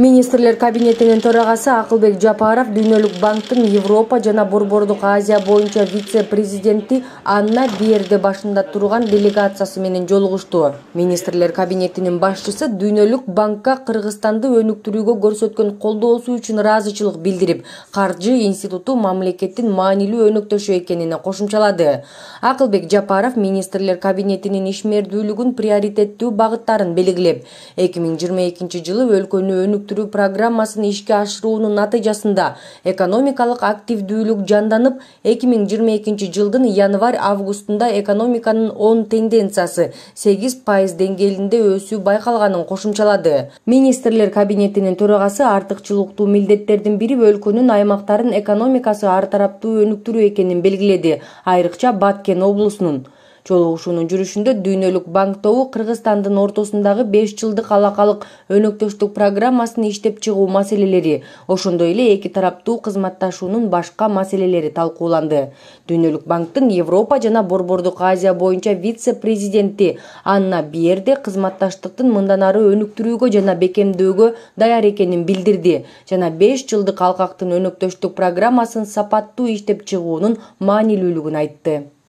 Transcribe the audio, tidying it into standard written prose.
Министрлер кабинетинин төрагасы Акылбек Жапаров Дүйнөлүк банктын Европа жана Борбордук Азия боюнча вице-президенти Анна Биерде башында турган делегациясы менен жолугушту. Министрлер кабинетинин башчысы Дүйнөлүк банкка Кыргызстанды өнүктүрүүгө көрсөткөн колдоосу үчүн ыраазычылык билдирип, каржы институту мамлекеттин маанилүү өнөктөшү экенин кошумчалады. Акылбек Жапаров министрлер кабинетинин ишмердүүлүгүн приоритеттүү багыттарын белгилеп, 2022 жылы өлкөнү өнүктүрүү программасын ишке ашыруунун натыйжасында экономикалык активдүүлүк жанданып, 2022 жылдын январь-августунда экономиканын оң тенденциясы 8% деңгээлинде өсүү байкалганын кошумчалады. Министрлер кабинетинин төрагасы артыкчылыктуу милдеттердин бири өлкөнүн аймактарын экономикасы ар тараптуу өнүктүрүү экенин белгиледи, айрыкча Баткен облусунун. Жолугушуунун жүрүшүндө Дүйнөлүк банк тобу Кыргызстандын ортосундагы 5 жылдык алакалык өнөктөштүк программасын иштеп чыгуу маселелери, ошондой эле эки тараптуу кызматташуунун башка маселелери талкууланды. Дүйнөлүк банктын Европа жана Борбордук Азия боюнча вице-президенти Анна Биерде кызматташтыктын мындан ары өнүктүрүүгө жана бекемдөөгө даяр экенин билдирди жана 5 жылдык алкактын өнөктөштүк программасын сапаттуу иштеп чыгуунун маанилүүлүгүн айтты.